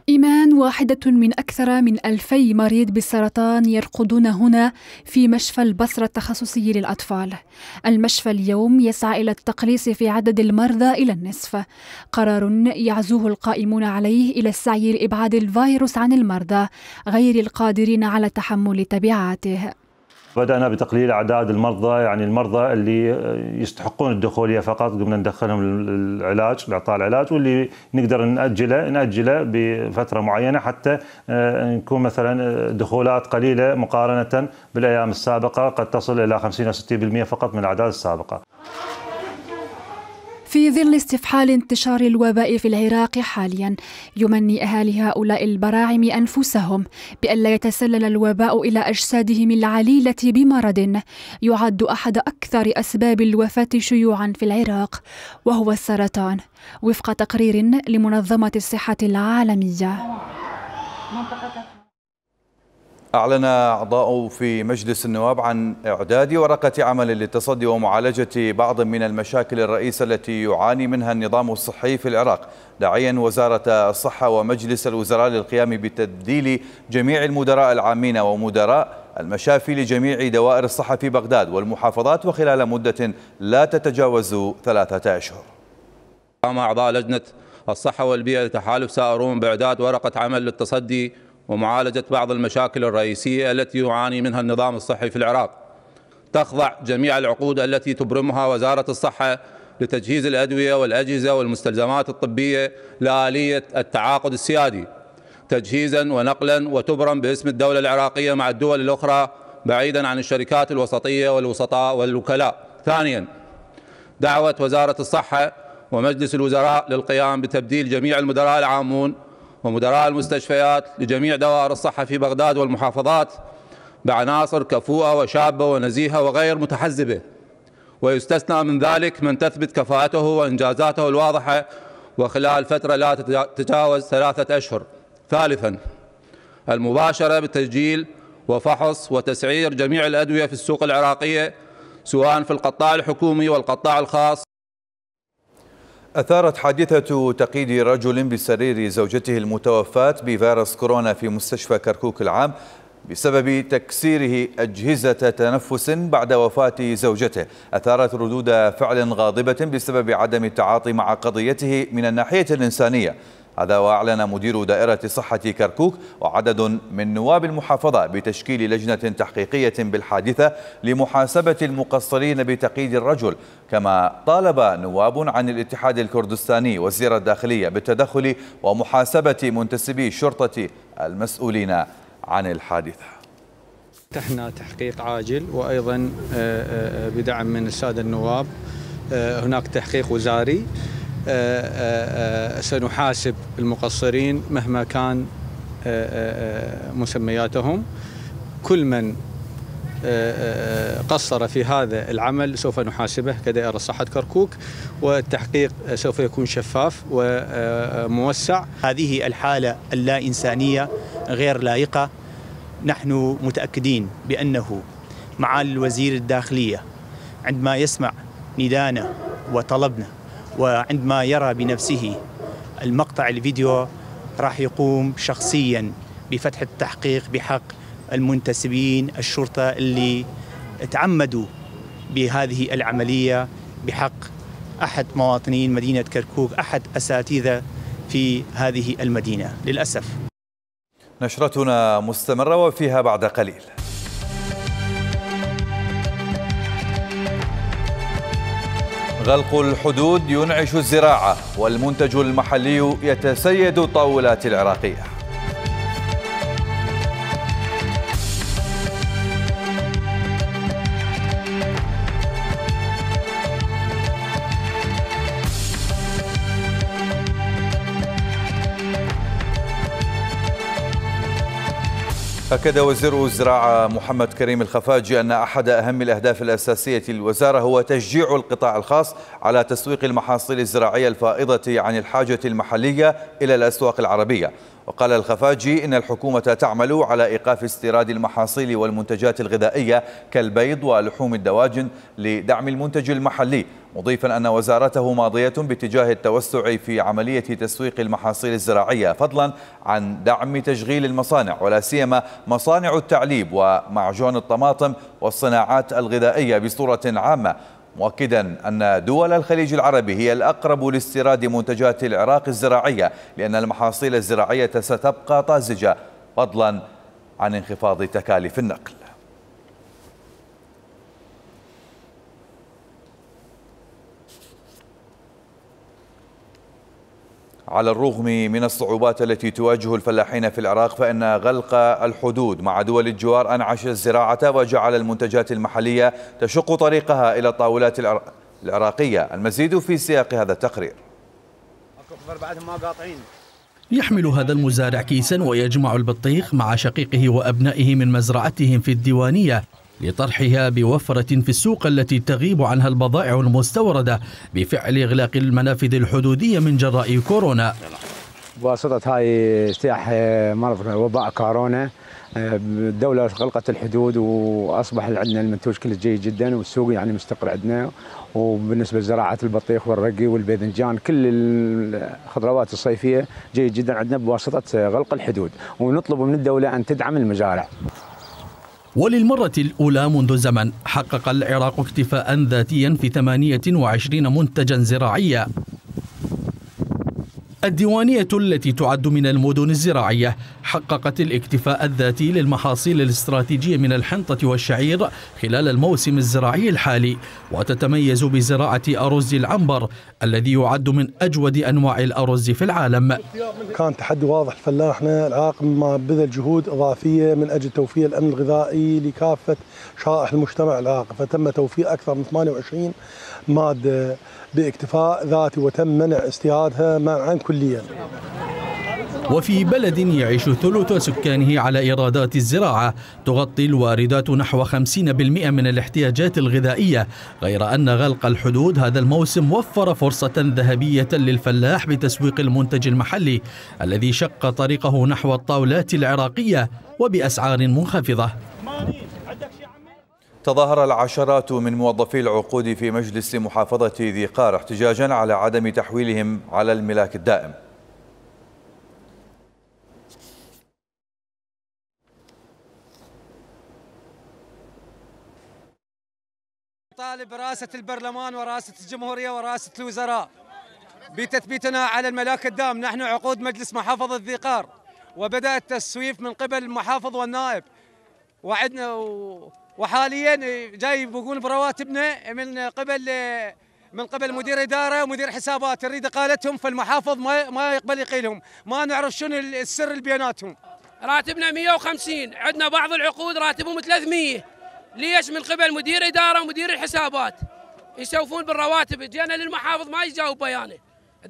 إيمان واحدة من أكثر من ألفي مريض بالسرطان يرقدون هنا في مشفى البصرة التخصصي للأطفال. المشفى اليوم يسعى إلى التقليص في عدد المرضى إلى النصف، قرار يعزوه القائمون عليه إلى السعي لإبعاد الفيروس عن المرضى غير القادرين على تحمل تبعاته. بدأنا بتقليل أعداد المرضى، يعني المرضى اللي يستحقون الدخولية فقط قمنا ندخلهم العلاج لإعطاء العلاج، واللي نقدر نأجله نأجله بفترة معينة حتى نكون مثلا دخولات قليلة مقارنة بالأيام السابقة، قد تصل إلى خمسين أو ستين بالمئة فقط من الأعداد السابقة. في ظل استفحال انتشار الوباء في العراق حاليا، يمني أهالي هؤلاء البراعم أنفسهم بألا يتسلل الوباء إلى أجسادهم العليلة بمرض يعد أحد أكثر أسباب الوفاة شيوعا في العراق، وهو السرطان، وفق تقرير لمنظمة الصحة العالمية. أعلن أعضاء في مجلس النواب عن إعداد ورقة عمل للتصدي ومعالجة بعض من المشاكل الرئيسة التي يعاني منها النظام الصحي في العراق، داعيا وزارة الصحة ومجلس الوزراء للقيام بتبديل جميع المدراء العامين ومدراء المشافي لجميع دوائر الصحة في بغداد والمحافظات وخلال مدة لا تتجاوز ثلاثة أشهر. قام أعضاء لجنة الصحة والبيئة لتحالف سائرون بإعداد ورقة عمل للتصدي ومعالجة بعض المشاكل الرئيسية التي يعاني منها النظام الصحي في العراق. تخضع جميع العقود التي تبرمها وزارة الصحة لتجهيز الأدوية والأجهزة والمستلزمات الطبية لآلية التعاقد السيادي تجهيزا ونقلا، وتبرم باسم الدولة العراقية مع الدول الأخرى بعيدا عن الشركات الوسطية والوسطاء والوكلاء. ثانيا، دعوة وزارة الصحة ومجلس الوزراء للقيام بتبديل جميع المدراء العامون ومدراء المستشفيات لجميع دوائر الصحة في بغداد والمحافظات بعناصر كفؤة وشابة ونزيهة وغير متحزبة، ويستثنى من ذلك من تثبت كفاءته وإنجازاته الواضحة وخلال فترة لا تتجاوز ثلاثة أشهر. ثالثا، المباشرة بتسجيل وفحص وتسعير جميع الأدوية في السوق العراقية سواء في القطاع الحكومي والقطاع الخاص. أثارت حادثة تقييد رجل بسرير زوجته المتوفاة بفيروس كورونا في مستشفى كركوك العام بسبب تكسيره أجهزة تنفس بعد وفاة زوجته، أثارت ردود فعل غاضبة بسبب عدم التعاطي مع قضيته من الناحية الإنسانية. هذا وأعلن مدير دائرة صحة كركوك وعدد من نواب المحافظة بتشكيل لجنة تحقيقية بالحادثة لمحاسبة المقصرين بتقييد الرجل، كما طالب نواب عن الاتحاد الكردستاني وزير الداخلية بالتدخل ومحاسبة منتسبي الشرطة المسؤولين عن الحادثة. فتحنا تحقيق عاجل، وأيضا بدعم من السادة النواب هناك تحقيق وزاري سنحاسب المقصرين مهما كان مسمياتهم. كل من قصر في هذا العمل سوف نحاسبه كدائرة صحة كركوك، والتحقيق سوف يكون شفاف وموسع. هذه الحالة اللا إنسانية غير لائقة. نحن متأكدين بأنه معالي وزير الداخلية عندما يسمع ندانا وطلبنا وعندما يرى بنفسه المقطع الفيديو راح يقوم شخصيا بفتح التحقيق بحق المنتسبين الشرطة اللي تعمدوا بهذه العملية بحق أحد مواطنين مدينة كركوك، أحد أساتذة في هذه المدينة للأسف. نشرتنا مستمرة وفيها بعد قليل. غلق الحدود ينعش الزراعة والمنتج المحلي يتسيد الطاولات العراقية. أكد وزير الزراعة محمد كريم الخفاجي أن أحد أهم الأهداف الأساسية للوزارة هو تشجيع القطاع الخاص على تسويق المحاصيل الزراعية الفائضة عن الحاجة المحلية إلى الأسواق العربية. وقال الخفاجي إن الحكومة تعمل على إيقاف استيراد المحاصيل والمنتجات الغذائية كالبيض ولحوم الدواجن لدعم المنتج المحلي، مضيفا أن وزارته ماضية باتجاه التوسع في عملية تسويق المحاصيل الزراعية فضلا عن دعم تشغيل المصانع ولا سيما مصانع التعليب ومعجون الطماطم والصناعات الغذائية بصورة عامة، مؤكدا أن دول الخليج العربي هي الأقرب لاستيراد منتجات العراق الزراعية لأن المحاصيل الزراعية ستبقى طازجة فضلا عن انخفاض تكاليف النقل. على الرغم من الصعوبات التي تواجه الفلاحين في العراق فإن غلق الحدود مع دول الجوار أنعش الزراعة وجعل المنتجات المحلية تشق طريقها إلى الطاولات العراقية. المزيد في سياق هذا التقرير. يحمل هذا المزارع كيسا ويجمع البطيخ مع شقيقه وأبنائه من مزرعتهم في الديوانية لطرحها بوفرة في السوق التي تغيب عنها البضائع المستوردة بفعل إغلاق المنافذ الحدودية من جراء كورونا. بواسطة هاي اجتياح مرض وباء كورونا الدولة غلقت الحدود وأصبح عندنا المنتوج كله جيد جدا والسوق يعني مستقر عندنا، وبالنسبة لزراعة البطيخ والرقي والباذنجان كل الخضروات الصيفية جيد جدا عندنا بواسطة غلق الحدود، ونطلب من الدولة أن تدعم المزارع. وللمرة الأولى منذ زمن حقق العراق اكتفاء ذاتيا في ثمانية وعشرين منتجا زراعيا. الديوانية التي تعد من المدن الزراعية حققت الاكتفاء الذاتي للمحاصيل الاستراتيجية من الحنطة والشعير خلال الموسم الزراعي الحالي، وتتميز بزراعة أرز العنبر الذي يعد من أجود أنواع الأرز في العالم. كان تحدي واضح لفلاحنا العراق ما بذل جهود إضافية من أجل توفير الأمن الغذائي لكافة شرائح المجتمع العراقي، فتم توفير أكثر من ثمانية وعشرين مادة باكتفاء ذاتي وتم منع استيرادها منعا كليا. وفي بلد يعيش ثلث سكانه على إيرادات الزراعة تغطي الواردات نحو خمسين بالمئة من الاحتياجات الغذائية، غير أن غلق الحدود هذا الموسم وفر فرصة ذهبية للفلاح بتسويق المنتج المحلي الذي شق طريقه نحو الطاولات العراقية وبأسعار منخفضة. تظاهر العشرات من موظفي العقود في مجلس محافظة ذي قار احتجاجا على عدم تحويلهم على الملاك الدائم. طالب رئاسة البرلمان ورئاسة الجمهورية ورئاسة الوزراء بتثبيتنا على الملاك الدائم. نحن عقود مجلس محافظة ذي قار وبدأ التسويف من قبل المحافظ والنائب، وعدنا وحاليا جاي بقول برواتبنا من قبل من قبل مدير اداره ومدير حسابات، نريد اقالتهم، فالمحافظ ما ما يقبل يقيلهم، ما نعرف شنو السر اللي بيناتهم. راتبنا مئة وخمسين، عندنا بعض العقود راتبهم ثلاثمئة، ليش؟ من قبل مدير اداره ومدير الحسابات يسوفون بالرواتب. جينا للمحافظ ما يجاوب بيانه،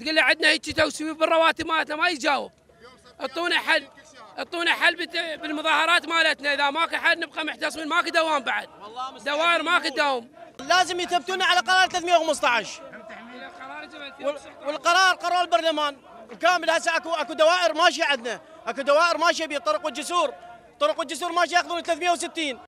تقول له عندنا هيك تسويف بالرواتب مالتنا ما يجاوب. اعطونا حل، اعطونا حل بالمظاهرات مالتنا، اذا ماكو حل نبقى محتصمين، ماكو دوام بعد، دوائر ماكو دوام. لازم يثبتونا على قرار ثلاثمئة وخمسة عشر والقرار قرار البرلمان كامل. هسه اكو اكو دوائر ماشيه عندنا، اكو دوائر ماشيه بالطرق والجسور، طرق والجسور ماشيه ياخذون ثلاثمئة وستين.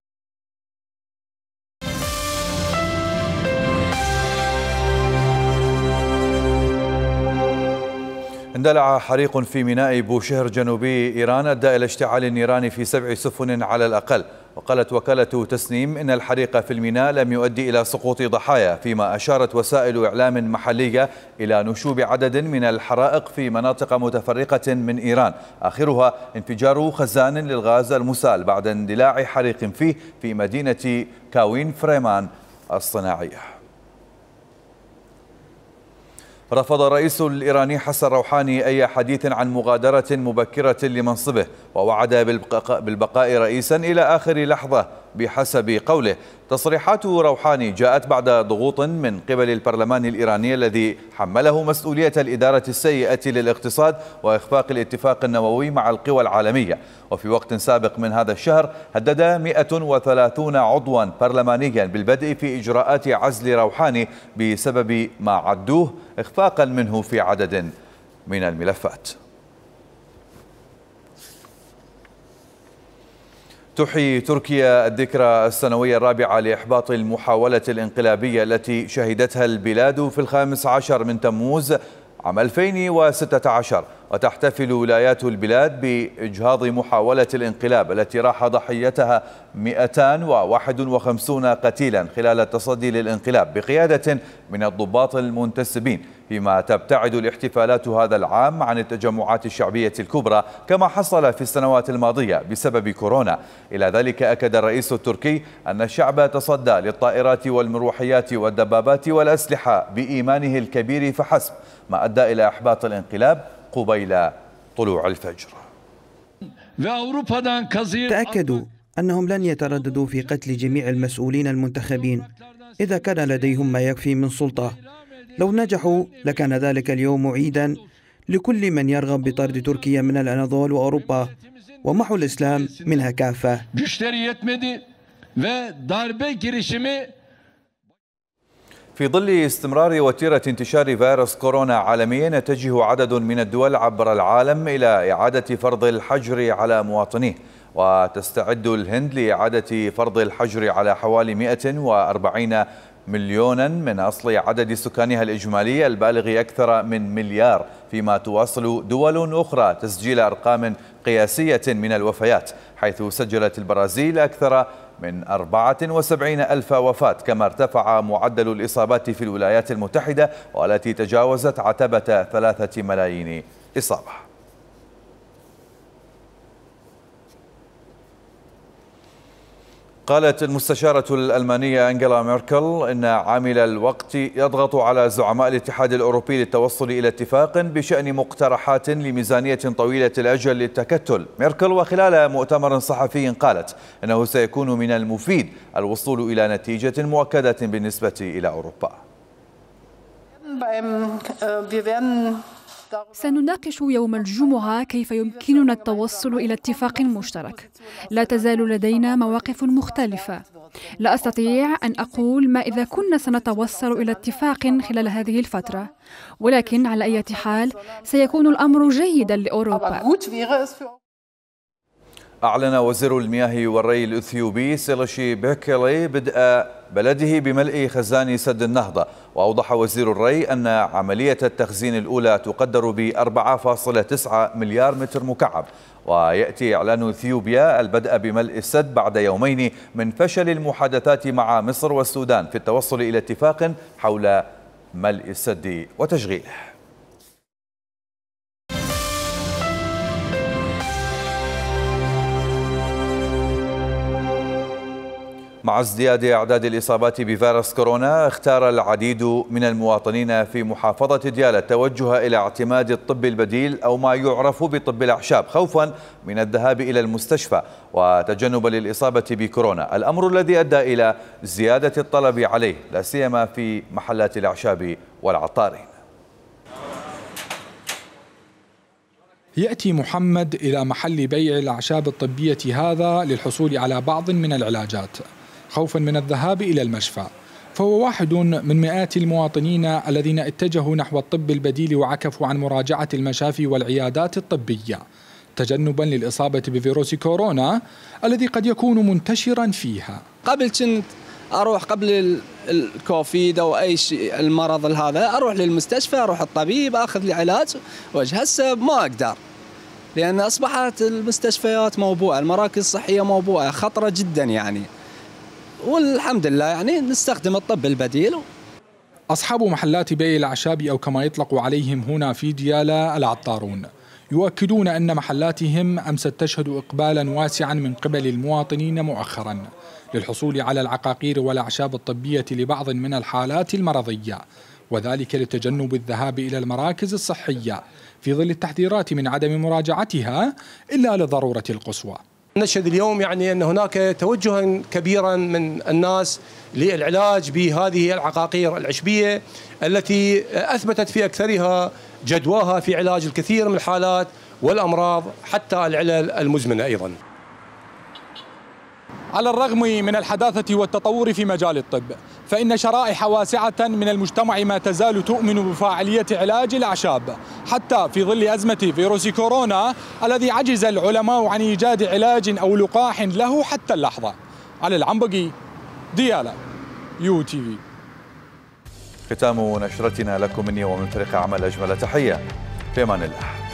اندلع حريق في ميناء بوشهر جنوبي إيران أدى إلى اشتعال النيران في سبع سفن على الأقل. وقالت وكالة تسنيم إن الحريق في الميناء لم يؤدي إلى سقوط ضحايا، فيما أشارت وسائل إعلام محلية إلى نشوب عدد من الحرائق في مناطق متفرقة من إيران، آخرها انفجار خزان للغاز المسال بعد اندلاع حريق فيه في مدينة كاوين فريمان الصناعية. رفض الرئيس الإيراني حسن روحاني أي حديث عن مغادرة مبكرة لمنصبه، ووعد بالبقاء رئيسا إلى آخر لحظة بحسب قوله. تصريحات روحاني جاءت بعد ضغوط من قبل البرلمان الإيراني الذي حمله مسؤولية الإدارة السيئة للاقتصاد وإخفاق الاتفاق النووي مع القوى العالمية. وفي وقت سابق من هذا الشهر هدد مئة وثلاثين عضوا برلمانيا بالبدء في إجراءات عزل روحاني بسبب ما عدوه إخفاقا منه في عدد من الملفات. تحيي تركيا الذكرى السنوية الرابعة لإحباط المحاولة الانقلابية التي شهدتها البلاد في الخامس عشر من تموز عام ألفين وستة عشر، وتحتفل ولايات البلاد بإجهاض محاولة الانقلاب التي راح ضحيتها مئتان وواحد وخمسين قتيلا خلال التصدي للانقلاب بقيادة من الضباط المنتسبين، فيما تبتعد الاحتفالات هذا العام عن التجمعات الشعبية الكبرى كما حصل في السنوات الماضية بسبب كورونا. إلى ذلك أكد الرئيس التركي أن الشعب تصدى للطائرات والمروحيات والدبابات والأسلحة بإيمانه الكبير فحسب، ما أدى إلى إحباط الانقلاب قبيل طلوع الفجر. تأكدوا أنهم لن يترددوا في قتل جميع المسؤولين المنتخبين إذا كان لديهم ما يكفي من سلطة. لو نجحوا لكان ذلك اليوم عيدا لكل من يرغب بطرد تركيا من الأناضول وأوروبا ومحو الإسلام منها كافة. في ظل استمرار وتيرة انتشار فيروس كورونا عالميا، يتجه عدد من الدول عبر العالم إلى إعادة فرض الحجر على مواطنيه، وتستعد الهند لإعادة فرض الحجر على حوالي مئة وأربعين مليونا من أصل عدد سكانها الإجمالي البالغ أكثر من مليار، فيما تواصل دول أخرى تسجيل أرقام قياسية من الوفيات، حيث سجلت البرازيل أكثر من أربعة وسبعين ألف وفاة، كما ارتفع معدل الإصابات في الولايات المتحدة والتي تجاوزت عتبة ثلاثة ملايين إصابة. قالت المستشارة الألمانية أنجيلا ميركل إن عامل الوقت يضغط على زعماء الاتحاد الأوروبي للتوصل إلى اتفاق بشأن مقترحات لميزانية طويلة الأجل للتكتل. ميركل وخلال مؤتمر صحفي قالت إنه سيكون من المفيد الوصول إلى نتيجة مؤكدة بالنسبة إلى أوروبا. سنناقش يوم الجمعة كيف يمكننا التوصل إلى اتفاق مشترك. لا تزال لدينا مواقف مختلفة. لا أستطيع أن أقول ما إذا كنا سنتوصل إلى اتفاق خلال هذه الفترة، ولكن على أي حال سيكون الأمر جيدا لأوروبا. أعلن وزير المياه والري الإثيوبي سيلاشي بيكيلي بدء بلده بملء خزان سد النهضة. وأوضح وزير الري أن عملية التخزين الأولى تقدر ب أربعة فاصلة تسعة مليار متر مكعب، ويأتي إعلان إثيوبيا البدء بملء السد بعد يومين من فشل المحادثات مع مصر والسودان في التوصل إلى اتفاق حول ملء السد وتشغيله. مع ازدياد أعداد الإصابات بفيروس كورونا، اختار العديد من المواطنين في محافظة ديالى التوجه إلى اعتماد الطب البديل أو ما يعرف بطب الأعشاب، خوفا من الذهاب إلى المستشفى وتجنبا للإصابة بكورونا، الأمر الذي أدى إلى زيادة الطلب عليه لا سيما في محلات الأعشاب والعطارين. يأتي محمد إلى محل بيع الأعشاب الطبية هذا للحصول على بعض من العلاجات خوفا من الذهاب إلى المشفى، فهو واحد من مئات المواطنين الذين اتجهوا نحو الطب البديل وعكفوا عن مراجعة المشافي والعيادات الطبية تجنبا للإصابة بفيروس كورونا الذي قد يكون منتشرا فيها. قبل كنت أروح قبل الكوفيد أو أي شيء المرض هذا أروح للمستشفى، أروح الطبيب أخذ لي علاج وجه. هسه ما أقدر لأن أصبحت المستشفيات موبوءة، المراكز الصحية موبوءة، خطرة جدا يعني، والحمد لله يعني نستخدم الطب البديل. أصحاب محلات بيع الأعشاب أو كما يطلق عليهم هنا في ديالى العطارون يؤكدون أن محلاتهم أمست تشهد إقبالا واسعا من قبل المواطنين مؤخرا للحصول على العقاقير والأعشاب الطبية لبعض من الحالات المرضية، وذلك لتجنب الذهاب إلى المراكز الصحية في ظل التحذيرات من عدم مراجعتها إلا للضرورة القصوى. نشهد اليوم يعني أن هناك توجها كبيرا من الناس للعلاج بهذه العقاقير العشبية التي أثبتت في أكثرها جدواها في علاج الكثير من الحالات والأمراض حتى العلل المزمنة أيضا. على الرغم من الحداثة والتطور في مجال الطب، فإن شرائح واسعة من المجتمع ما تزال تؤمن بفاعلية علاج الأعشاب حتى في ظل أزمة فيروس كورونا الذي عجز العلماء عن إيجاد علاج أو لقاح له حتى اللحظة. علي العنبقي، ديالى، يو تي في. ختام نشرتنا لكم مني ومن فريق عمل أجمل تحية، في أمان الله.